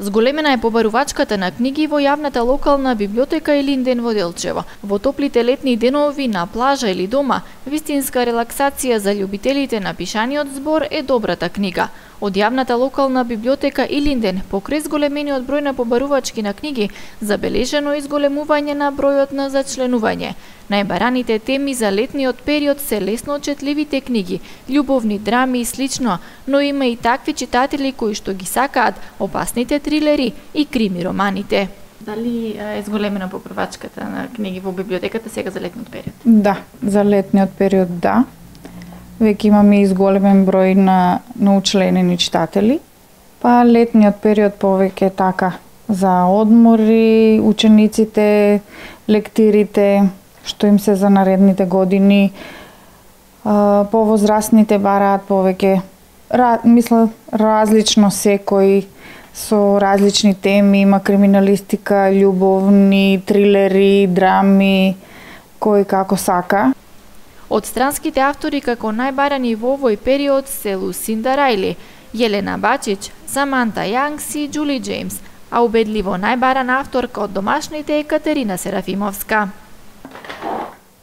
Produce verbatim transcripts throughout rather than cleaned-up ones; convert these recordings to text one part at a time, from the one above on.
Зголемена е побарувачката на книги во јавната локална библиотека Илинден во Делчево. Во топлите летни денови на плажа или дома, вистинска релаксација за љубителите на пишаниот збор е добрата книга. Од јавната локална библиотека Илинден, покрај зголемениот број на побарувачки на книги, забележено изголемување на бројот на зачленување. Најбараните теми за летниот период се лесно очетливите книги, љубовни драми и слично, но има и такви читатели кои што ги сакаат опасните трилери и крими романите. Дали е зголемена побарувачката на книги во библиотеката сега за летниот период? Да, за летниот период да. Веќе имаме изголемен број на научленени читатели. Па летниот период повеќе така за одмори, учениците, лектирите, што им се за наредните години. Повозрастните бараат повеќе, мисля, различно секој со различни теми, има криминалистика, љубовни, трилери, драми, кој како сака. Од странските автори како најбарани во овој период се Лусинда Рајли, Јелена Бачич, Саманта Јангс и Џули Џејмс, а убедливо најбарана авторка од домашните е Катерина Серафимовска.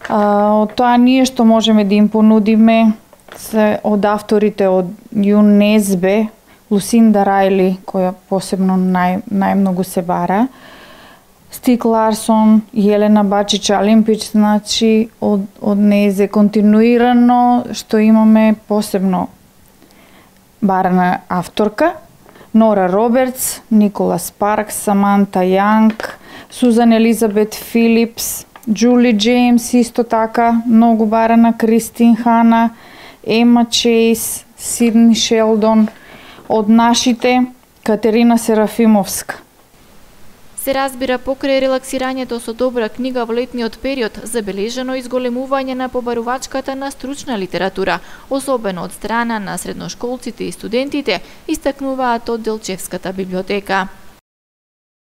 А, од тоа ние што можеме да им понудиме се од авторите од ЮНЕСБЕ, Лусинда Рајли, која посебно нај, најмногу се бара, Стик Ларсон, Јелена Бачич Алимпич, значи од, од незе континуирано што имаме посебно барана авторка, Нора Робертс, Николас Паркс, Саманта Јанг, Сузан Елизабет Филипс, Џули Џејмс исто така, многу барана, Кристин Хана, Ема Чейс, Сидни Шелдон, од нашите Катерина Серафимовска. Се разбира, покрај релаксирањето со добра книга во летниот период, забележено изголемување на побарувачката на стручна литература, особено од страна на средношколците и студентите, истакнуваат од Делчевската библиотека.